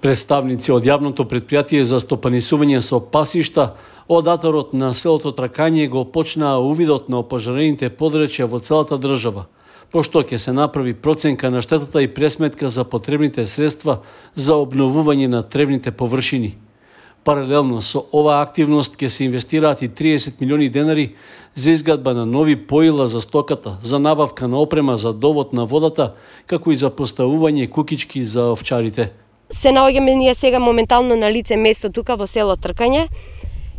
Представници од јавното предпријатие за стопанисување со пасишта од аторот на селото Тракање го почнаа увидот на опожарените подречја во целата држава, пошто ќе се направи проценка на штетата и пресметка за потребните средства за обновување на тревните површини. Паралелно со оваа активност ќе се инвестираат и 30 милиони денари за изградба на нови поила за стоката, за набавка на опрема за довод на водата, како и за поставување кукички за овчарите. Се наоѓаме ние сега моментално на лице место тука во село Тркање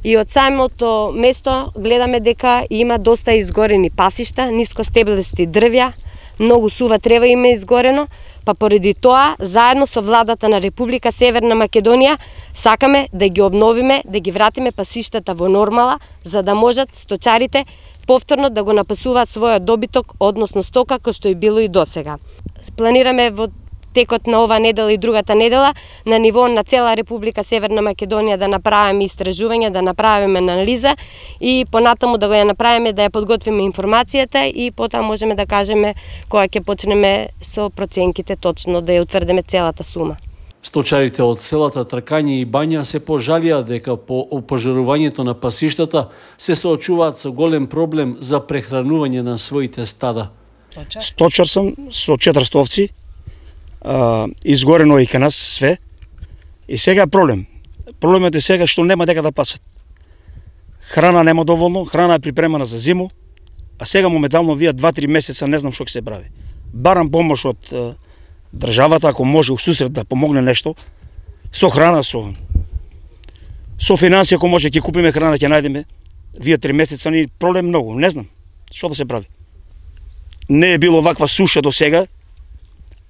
и од самото место гледаме дека има доста изгорени пасишта, нискостеблести дрвја, многу сува трева има изгорено, па поради тоа, заедно со владата на Република Северна Македонија, сакаме да ги обновиме, да ги вратиме пасиштата во нормала, за да можат сточарите повторно да го напасуваат својот добиток, односно стока, кој што и било и досега. Планираме во текот на ова недела и другата недела на ниво на цела Република Северна Македонија да направиме истражување, да направиме анализа и понатаму да го ја направиме, да ја подготвиме информацијата и потоа можеме да кажеме кога ќе почнеме со проценките точно да ја утврдиме целата сума. Сточарите од селата Тракање и Бања се пожалија дека по опожарувањето на пасиштата се соочуваат со голем проблем за прехранување на своите стада. Сточар сум со 400 овци. Изгорено и кај нас све. И сега проблем. Проблемот е сега што нема дека да пасат. Храна нема доволно, храна е припремана за зиму, а сега моментално вие 2-3 месеца не знам што ќе се прави. Барам помош од државата, ако може усусрет да помогне нешто, со храна, со финансија, ако може ќе купиме храна, ќе најдеме. Вие 3 месеца ни проблем многу, не знам што да се прави. Не е било ваква суша до сега,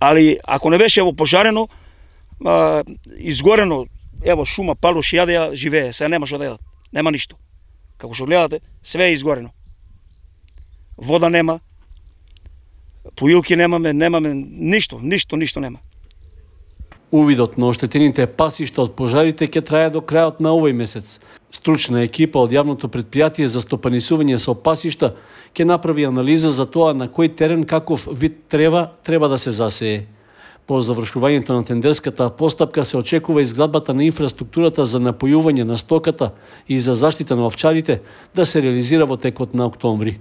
али ако не беше пожарено, изгорено, ево шума, палуш, јаде ја живее, сега нема што да јадат, нема ништо. Како што гледате, све е изгорено. Вода нема, поилки немаме ништо нема. Увидот на оштетените пасишта од пожарите ќе трае до крајот на овој месец. Стручна екипа од јавното предпријатие за стопанисување со пасишта ќе направи анализа за тоа на кој терен каков вид трева треба да се засее. По завршувањето на тендерската постапка се очекува изградбата на инфраструктурата за напојување на стоката и за заштита на овчарите да се реализира во текот на октомври.